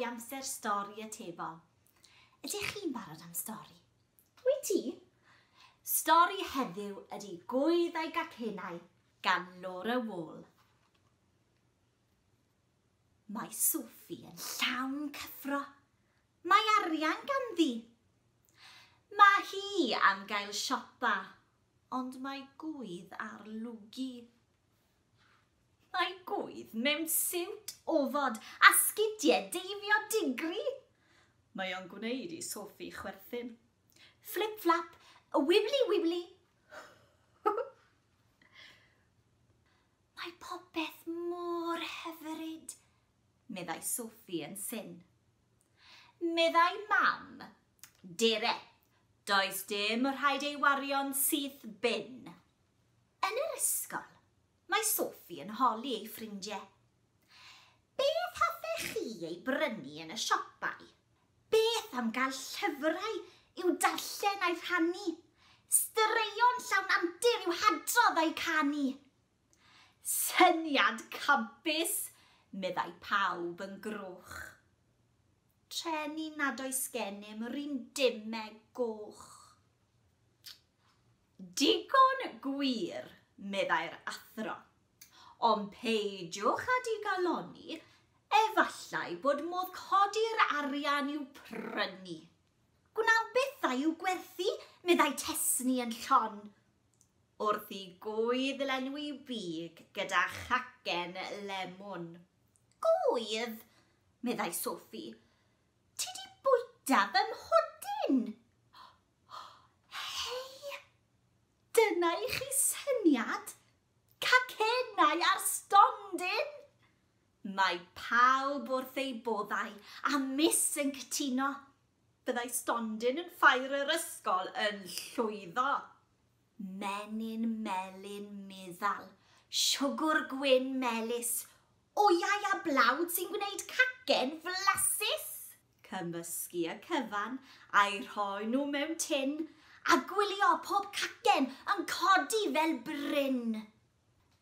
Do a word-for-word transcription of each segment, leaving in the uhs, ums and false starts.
amser stori atebol. Ydych chi'n barod am stori? Wyt ti? Stori heddiw ydy Gwydd a'i Gacennau gan Laura Wall. Mae Sophie yn llawn cyffro. Mae arian ganddi. Mae hi am gael siopa, ond mae gwydd ar lwgu. Mae gwydd mewn siwt ofod a sgidiau deifio digri. Mae o'n gwneud i Sophie chwerthin. Flip-flap, wibbly wibbly. Mae popeth mor hyfryd, meddai Sophie yn syn. Meddai mam, dere, does dim rhaid ei wario'n syth bin. Yn yr ysgol, mae Sophie yn holi ei ffrindiau. Beth hoffech chi ei brynu yn y siopau? Beth am gael llyfrau i'w darllen a'i rhannu? Straeon llawn antur i'w hadrodd a'i canu? Syniad campus, meddai pawb yn groch. Treni nad oes gennym yr un dimau goch. Digon gwir, meddai'r athro. Ond peidiwch â digalonni, efallai bod modd codi'r arian i'w prynu. Gwnawn bethau i'w gwerthu, meddai Tesni yn llon. Wrth i gwydd lenwi big gyda chacen lemwn. Gwydd, meddai Sophie, ti di bwyta fy mhodyn. Hei, dyna i chi syniad. Cacennau ar stondin. Mae pawb wrth ei boddau a Miss yn cytuno. Byddai stondin yn ffair yr ysgol yn llwyddo. Menyn melyn meddal, siwgr gwyn melys, wyau a blawd sy'n gwneud cacen flasus. Cymysgu y cyfan a'i rhoi nhw mewn tin a gwylio pob cacen yn codi fel bryn.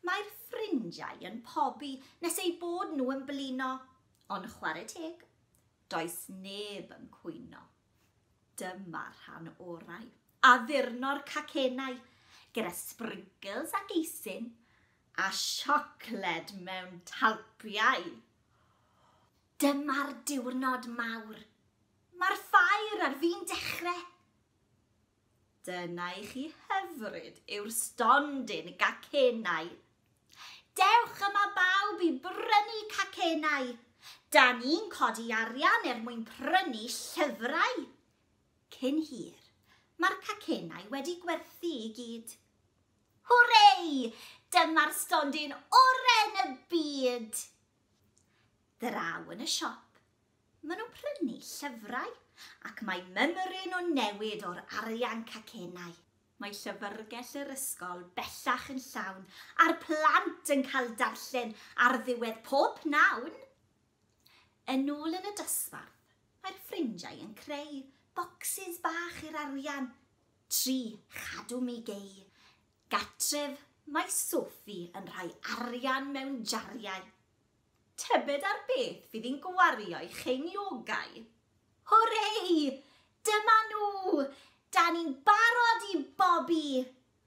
Mae'r ffrindiau yn pobi nes eu bod nhw yn blino, ond chwarae teg, does neb yn cwyno. Dyma'r rhan orau, addurno'r cacennau gyda sprinkles ac eisin a siocled mewn talpiau. Dyma'r diwrnod mawr. Mae'r ffair ar fin dechrau. Dyna i chi hyfryd yw'r stondin gacennau. Dewch yma bawb i brynu cacennau. Da ni'n codi arian er mwyn prynu llyfrau. Cyn hir, mae'r cacennau wedi gwerthu i gyd. Hwrei! Dyma'r stondin oren y byd! Draw yn y siop, maen nhw'n prynu llyfrau ac mae mymryn o newid o'r arian cacennau. Mae llyfrgell yr ysgol bellach yn llawn a'r plant yn cael darllen ar ddiwedd pob pnawn. Yn ôl yn y dosbarth, mae'r ffrindiau yn creu bocsys bach i'r arian. Tri chadw mi gei. Gatref, mae Sophie yn rhoi arian mewn jariau. Tybed ar beth fydd hi'n gwario ei cheiniogau. Hwrei! Dyma nhw! Da ni'n barod i bobi!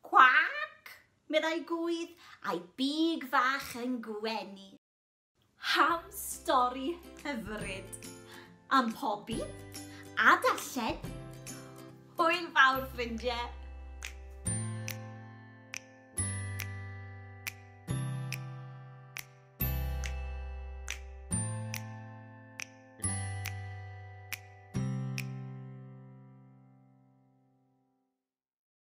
Cwac! Meddai gwydd, a'i big fach yn gwenu. Am stori hyfryd. Am pobi a darllen. Hwyl fawr, ffrindiau!